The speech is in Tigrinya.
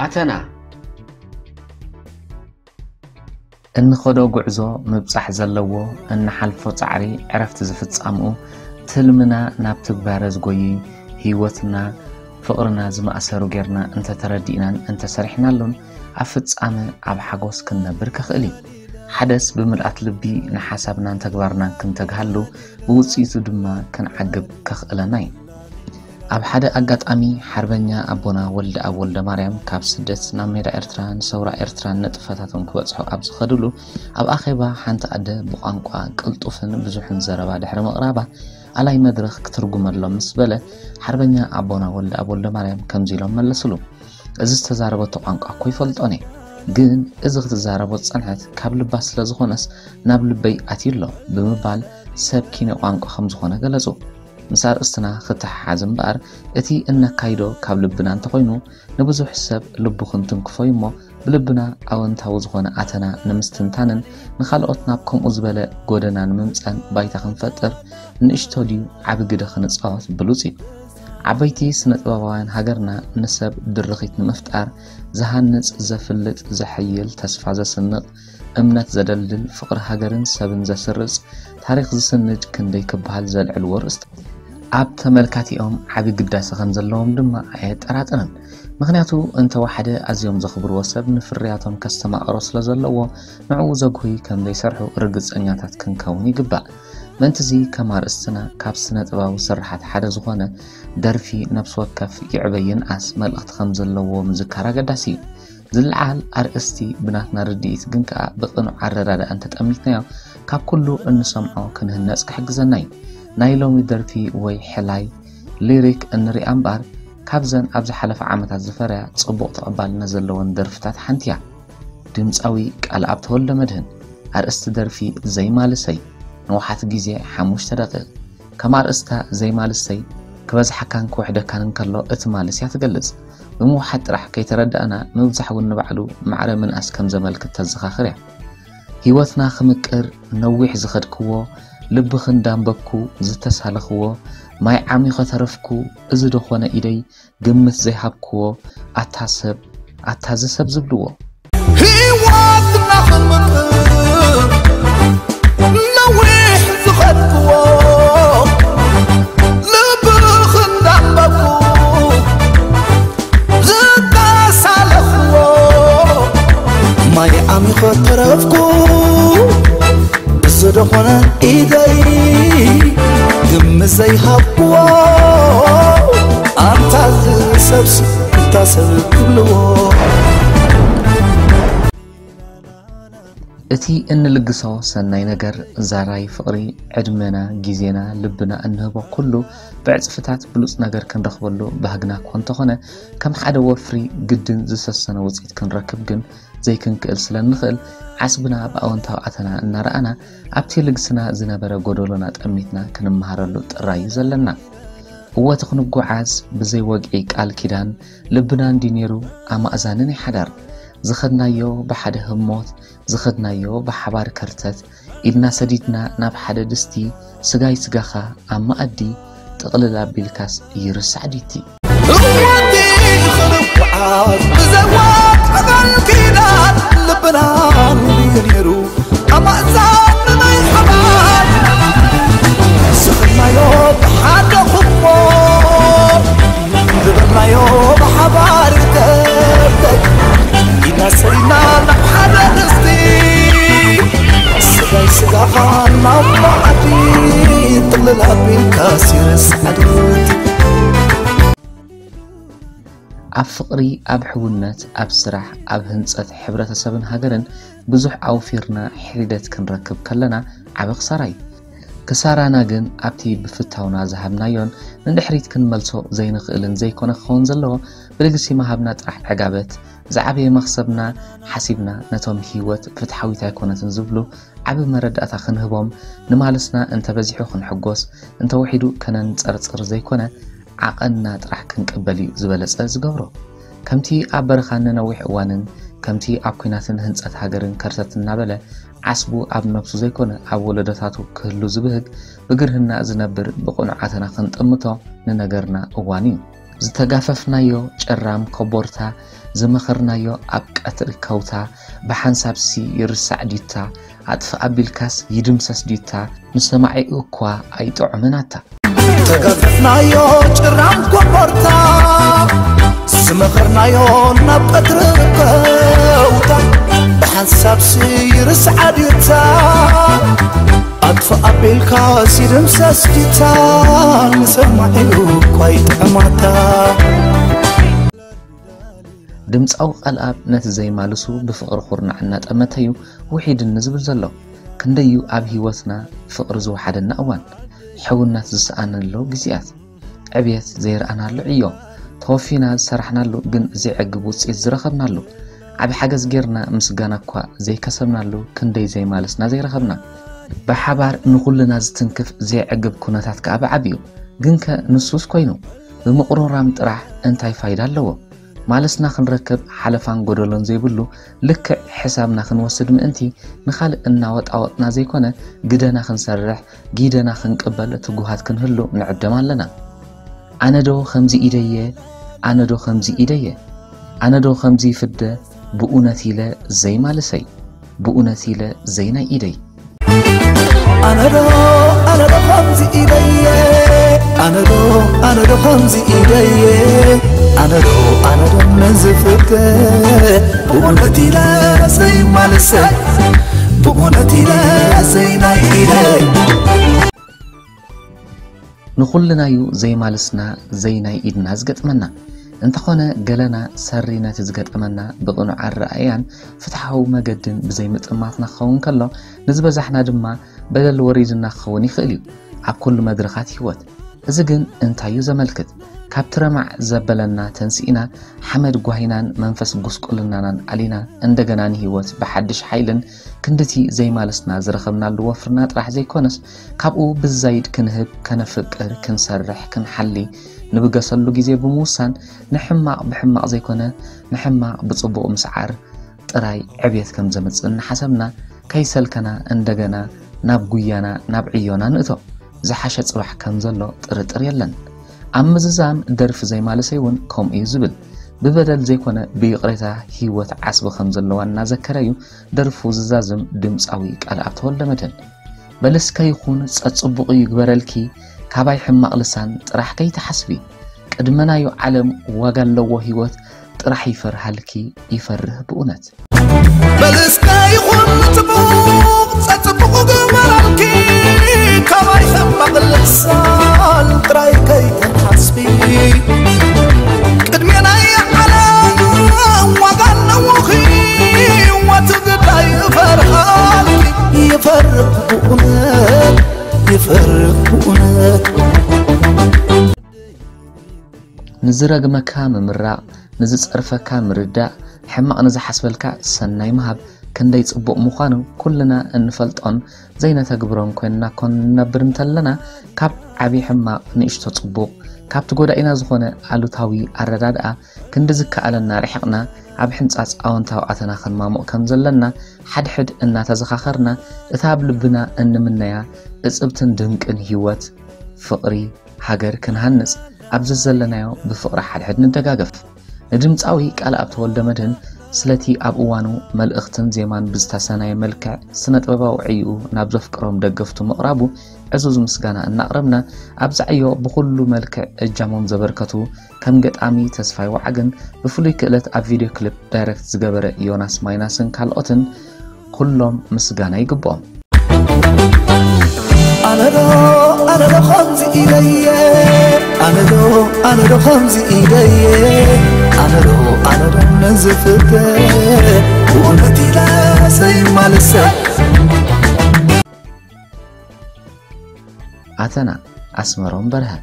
ኣተና እንኸዶ ጉዕዞ ምብጻሕ ዘለዎ፣ እንሓልፎ ጻዕሪ ዕረፍቲ ዝፍጻምኡ፣ ትልምና ናብ ትግባረ ዝጎይ፣ ህይወትና ፍቕርና ዝመኣሰሩ ጌርና እንተተረዲእናን እንተሰሪሕናሉን፣ ኣብ ፍጻመ ኣብ ሓጎስ ክንነብር ከኽእል እዩ። ሓደስ ብምልኣት ልቢ ንሓሳብናን ተግባርናን ክንተግሃሉ፣ ብውጽኢቱ ድማ ክንዓግብ ከኽእለና እዩ። ኣብ ሓደ ኣጋጣሚ ሓርበኛ ኣቦና ወልደኣብ ወልደማርያም ካብ ስደት ናብ ሜዳ ኤርትራ ንሰውራ ኤርትራን ንጥፈታቱን ክበጽሑ ኣብ ዝኸድሉ፣ ኣብ ኣኼባ ሓንቲ ኣደ ብቋንቋ ቅልጡፍን ብዙሕን ዘረባ ድሕሪ ምቕራባ፣ ኣላይ መድረኽ ክትርጉመሎም ምስ በለ፣ ሓርበኛ ኣቦና ወልደኣብ ወልደማርያም ከምዚ ኢሎም መለስሉ። እዚ ዝተዛረበቶ ቋንቋ እኮ ይፈልጦን እየ፣ ግን እዚ ክትዛረቦ ዝጸንሐት ካብ ልባ ስለ ዝኾነስ ናብ ልበይ ኣትዩ ኣሎ ብምባል ሰብ ኪነ ቋንቋ ከም ዝኾነ ገለጹ። ምስ ኣርእስትና ክተሓሓዝ እምበኣር፣ እቲ እነካይዶ ካብ ልብና እንተኾይኑ፣ ንብዙሕ ሰብ ልቡ ክንትንክፎ እዩ እሞ፣ ብልብና ኣወንታዊ ዝኾነ ኣተና ንምስትንታንን ንኻልኦት ናብ ከምኡ ዝበለ ጎደና ንምምጻን ባይታ ክንፈጥር፣ ንእሽቶ ድዩ ዓቢ ግደ ክንጻወት ብሉጽ እዩ። ዓበይቲ ስነ ጥበባውያን ሃገርና ንሰብ ድርኺት ንምፍጣር ዝሃንጽ፣ ዘፍልጥ፣ ዘሐይል፣ ተስፋ ዘስንቕ፣ እምነት ዘደልድል፣ ፍቕሪ ሃገርን ሰብን ዘስርጽ፣ ታሪኽ ዝስንድ ክንደይ ክበሃል ዘልዕልዎ ርእስታት። ኣብ ተመልካቲኦም ዓቢ ግዳሰ ከም ዘለዎም ድማ ኣየጠራጥርን። ምኽንያቱ እንተወሓደ ኣዝዮም ዘኽብርዎ ሰብ ንፍርያቶም ከስተማቕሮ ስለ ዘለዎ፣ ንዕኡ ዘጉህይ ከም ዘይሰርሑ ርግጸኛታት ክንከውን ይግባእ። ምእንትዚ ከም ኣርእስትና ካብ ስነ ጥበባዊ ስርሓት ሓደ ዝኾነ ደርፊ ነፍሲ ወከፍ ይዕበ ይንኣስ መልእኽቲ ከም ዘለዎ ምዝካር ኣገዳሲ እዩ። ዝለዓል ኣርእስቲ ብናትና ርድኢት ግን ከኣ ብቕኑዕ ኣረዳድኣ እንተጠሚትናዮ ካብ ኩሉ እንሰምዖ ክንህነጽ ክሕግዘና እዩ። ናይ ሎሚ ደርፊ ወይ ሕላይ ሊሪክ እንሪኣ እምበኣር ካብዘን ኣብ ዝሓለፈ ዓመታት ዝፈረያ ጽቡቕ ተቐባልነት ዘለወን ደርፍታት ሓንቲ እያ። ድምጻዊ ቃልኣብ ተወልደመድህን። ኣርእስቲ ደርፊ ዘይማልሰይ። ንውሓት ግዜ ሓሙሽተ ደቂቕ። ከም ኣርእስታ ዘይማልሰይ ክበዝሓካን ክውሕደካን እንከሎ እቲ ማልስ እያ ትገልጽ። ብምውሓድ ጥራሕ ከይተረዳእና ምብዛሕ እውን ንባዕሉ ማዕረ ምንኣስ ከም ዘመልክት ተዘኻኽር እያ። ህይወትና ክምቅር ነዊሕ ዝኸድክዎ፣ ልብኺ እንዳንበብኩ ዝተሳለኽዎ፣ ማይ ዓሚኸ ተረፍኩ፣ እዚ ዶ ኾነ ኢደይ ግምት ዘይሃብክዎ፣ ኣታ ሰብ ኣታ እዚ ሰብ ዝብልዎ። ህይወትና ክንምቅር ነዊሕ ዝኸድክዎ፣ ልብኺ እንዳንበብኩ ዝተሳለኽዎ፣ ማይ ዓሚኸ ተረፍኩ፣ እዚ ዶ ኾነ ኢደይ ግምት ዘይሃብክዎ፣ ኣንታ እዚ ሰብሲ እንታይ ሰብ ክብልዎ። እቲ እንልግሶ ሰናይ ነገር፣ ዛራይ ፍቕሪ፣ ዕድመና፣ ግዜና፣ ልብና እንህቦ ኩሉ ብዕጽፍታት ብሉጽ ነገር ክንረኽበሉ ባህግና እኳ እንተኾነ፣ ከም ሓደ ወፍሪ ግድን ዝሰሰነ ውጽኢት ክንረክብ ግን ዘይክንክእል ስለ እንኽእል፣ ዓስብና ብኣወንታዊ ኣተና እናረኣና፣ ኣብቲ ልግስና ዝነበረ ጎደሎና ጠሚትና ክንመሃረሉ ጥራይ እዩ ዘለና። እወ፣ እቲ ክንጓዓዝ ብዘይ ወግዒ ቃል ኪዳን ልብና እንዲ ነይሩ ኣማእዛኒ ናይ ሓዳር። ዝኸድናዮ ብሓደ ህሞት፣ ዝኸድናዮ ብሓባር ከርተት፣ ኢድና ሰዲድና ናብ ሓደ ድስቲ፣ ስጋይ ስጋኻ ኣብ መኣዲ፣ ጥቕልል ኣቢልካስ ይርሳዕ ድዩ እቲ። እወ፣ እቲ ክንጓዓዝ ብዘይ ወግዒ ቃል ኪዳን ልብና እንዲ ነይሩ ኣማእዛኒ ናይ ሓባር። ዝኸድናዮ ብሓደ ህሞት፣ ዝኸድናዮ ብሓባር ከርተት፣ ኢድና ሰዲድና ናብ ሓደ ድስቲ፣ ስጋይ ስጋኻ ናብ መኣዲ፣ ጥቕልል ኣቢልካስ ይርሳዕ ድዩ እቲ። ኣብ ፍቕሪ፣ ኣብ ሕውነት፣ ኣብ ስራሕ፣ ኣብ ህንጸት ሕብረተሰብን ሃገርን ብዙሕ ኣውፊርና ሒደት ክንረክብ ከለና ዓቢ ክሳራ እዩ። ክሳራና ግን ኣብቲ ብፍታውና ዝሃብናዮን ንድሕሪት ክንመልሶ ዘይንኽእልን ዘይኮነ ክኸውን ዘለዎ፣ ብልግሲ ምሃብና ጥራሕ ዕጋበት፣ ዝዓበየ መኽሰብና ሓሲብና ነቶም ህይወት ፍትሓዊት ኣይኮነትን ዝብሉ ዓቢ መረዳእታ ክንህቦም፣ ንማልስና እንተበዚሑ ክንሕጎስ፣ እንተውሒዱ ከነንጸርጽር ዘይኮነ ዓቐንና ጥራሕ ክንቅበል እዩ ዝበለጸ ዝገብሮ። ከምቲ ኣብ በረኻን ንነዊሕ እዋንን፣ ከምቲ ኣብ ኲናትን ህንጸት ሃገርን ከርተት እናበለ ዓስቡ ኣብ ነብሱ ዘይኮነ ኣብ ወለዶታቱ ክህሉ ዝብህግ፣ ብግርህና ዝነብር ብቕኑዕ ኣተና ክንጥምቶ ንነገርና እዋን እዩ። ዝተጋፈፍናዮ ጭራም ኮቦርታ፣ ዝመኸርናዮ ኣብ ቀትሪ ከውታ፣ ብሓንሳብሲ ይርሳዕ ዲታ፣ ኣጥፍእ ኣቢልካስ ይድምሰስ ዲታ፣ ንሰማዒኡ እኳ ኣይጥዑምን ኣታ። ተጋፈፍናዮ ጭራም ኮቦርታ፣ ዝመኸርናዮ ናብ ቀትሪ ከውታ፣ ብሓንሳብሲ ይርሳዕ ዲታ፣ ኣጥፍእ ኣቢልካ ሲድም ሰስቲታ፣ ንሰማዒኡ እኳ ይጥዕማታ። ድምፃዊ ቃልኣብ ነቲ ዘይማልሱ ብፍቕሪ ኩርናዕ እናጠመተዩ ውሒድኒ ዝብል ዘሎ። ክንደዩ ኣብ ህይወትና ፍቕሪ ዝወሓደና እዋን፣ ሕውነት ዝሰኣነሎ ግዜያት፣ ዕብየት ዘይረኣናሉ ዕዮ፣ ተወፊና ዝሰራሕናሉ ግን ዘይዕግብ ውፅኢት ዝረኸብናሉ፣ ዓቢ ሓገዝ ጌርና ምስጋና እኳ ዘይከሰብናሉ ክንደይ ዘይማልስና ዘይረኸብና። ብሓባር ንኹልና ዝትንክፍ ዘይዕግብ ኩነታት ከኣ ብዓቢኡ። ግንከ ንሱስ ኮይኑ ብምቕሩራም ጥራሕ እንታይ ፋይዳ ኣለዎ? ማልስና ክንረክብ ሓለፋን ጎደሎን ዘይብሉ ልክዕ ሕሳብና ክንወስድ ምእንቲ ንኻልእ እናወጣወጥና ዘይኮነ ግደና ክንሰርሕ ጊደና ክንቅበል ትጉሃት ክንህሉ ንዕደም ኣለና። ኣነዶ ከምዚ ኢደየ፣ ኣነዶ ከምዚ ኢደየ፣ ኣነዶ ከምዚ ይፍደ ብእውነት ኢለ ዘይማልሰይ፣ ብእውነት ኢለ ዘይናይ ኢደይ። ኣነዶ ኣነዶ ከምዚ ኢደየ፣ ኣነዶ ኣነዶ ከምዚ ኢደየ፣ ኣነዶ ኣነዶ ነዝፍተ ብእውነት ኢለ ዘይማልሰይ፣ ብእውነት ኢለ ዘይናይ ኢደይ። ንኹልናዩ ዘይማልስና ዘይናይ ኢድና ዝገጥመና። እንተኾነ ገለና ሰሪ ነቲ ዝገጠመና ብቕኑዕ ኣረኣእያን ፍትሓዊ መገድን ብዘይምጥማትና ክኸውን ከሎ፣ ንዝበዛሕና ድማ በደል ወሪድና ክኸውን ይኽእል እዩ ኣብ ኩሉ መድረኻት ህይወት። እዚ ግን እንታይ እዩ ዘመልክት? ካብ ትረማዕ ዘበለና ተንሲእና ሓመድ ጓሂናን መንፈስ ጉስቁልናናን ኣሊና እንደገና ንህይወት ብሓድሽ ሓይልን ክንድቲ ዘይማልስና ዝረኸብናሉ ወፍርና ጥራሕ ዘይኮነስ ካብኡ ብዛይድ ክንህብ፣ ከነፍቅር፣ ክንሰርሕ፣ ክንሓሊ ንብገሰሉ ግዜ ብምውሳን ንሕማቕ ብሕማቕ ዘይኮነ ንሕማቕ ብጽቡቕ ምስዓር ጥራይ ዕብየት ከም ዘምጽእ እናሓሰብና ከይሰልከና እንደገና ናብ ጉያና ናብ ዕዮና ንእቶ። ዝሓሸ ጽባሕ ከም ዘሎ ጥርጥር የለን። ኣብ ምዝዛም ደርፊ ዘይማልሰይ እውን ከምኡ እዩ ዝብል። ብበደል ዘይኮነ ብይቕሬታ ህይወት ዓስቢ ከም ዘለዋ እናዘከረ እዩ ደርፉ ዝዛዝም ድምፃዊ ቃልኣብ ተወልደመድህን። በልስከ ይኹን ጸጽቡቑ ይግበረልኪ፣ ካባይ ሕማቕ ልሳን ጥራሕ ከይትሓስቢ። ቅድመናዩ ዓለም ዋጋ ኣለዎ ህይወት ጥራሕ ይፈርሃልኪ፣ ይፈርህ ብእውነት። በልስከ ይኹን ጽቡቕ ጸጽቡቑ ግበረልኪ፣ ካባይ ሕማቕ ልሳን ጥራይ ከይትሓስቢ። ቅድሜናይ ዓለም ዋጋ ኣለዎ ህይወት ግዳይ ይፈርሃልኪ፣ ይፈርህ ብእውነት፣ ይፈርህ ብእውነት። ንዝረግመካ ምምራቕ፣ ንዝጸርፈካ ምርዳእ፣ ሕማቕ ንዝሓስበልካ ሰናይ ምሃብ ክንደይ ጽቡቕ ምዃኑ ኩልና እንፈልጦን ዘይነተግብሮን ኮይንና ኮን ንነብር እንተለና፣ ካብ ዓቢ ሕማቕ ንእሽቶ ጽቡቕ፣ ካብቲ ጎዳኢና ዝኾነ ኣሉታዊ ኣረዳድኣ ክንዲ ዝከኣለና ርሒቕና፣ ኣብ ሕንጻጽ ኣወንታዊ ኣተና ክንማሙቕ ከም ዘለና ሓድሕድ እናተዘኻኸርና፣ እታ ኣብ ልብና እንምነያ እጽብትን ድንቅን ህይወት፣ ፍቕሪ፣ ሃገር ክንሃንጽ ኣብ ዘዘለናዮ ብፍቕሪ ሓድሕድ ንደጋገፍ። ንድምጻዊ ቃልኣብ ተወልደመድህን ስለቲ ኣብ እዋኑ መልእኽትን ዜማን ብዝተሰናየ መልክዕ ስነ ጥበባዊ ዕይኡ ናብ ዘፍቅሮም ደገፍቱ ምቕራቡ ዕዙዝ ምስጋና እናቕረብና፣ ኣብዚ ዕዮ ብኹሉ መልክዕ እጃሞም ዘበርከቱ ከም ገጣሚ ተስፋይ ወዓግን ብፍሉይ ክእለት ኣብ ቪድዮ ክሊፕ ዳይረክት ዝገበረ ዮናስ ማይናስን ካልኦትን ኩሎም ምስጋና ይግብኦም። ኣነዶ ኣነዶ ከምዚ ኢለየ፣ ኣነዶ ኣነዶ ከምዚ ኢለየ፣ ኣነዶ ኣነዶ ነዝፍተ ብእውነት ኢለ ዘይማልሰ። ኣተና ኣስመሮም በርሀ።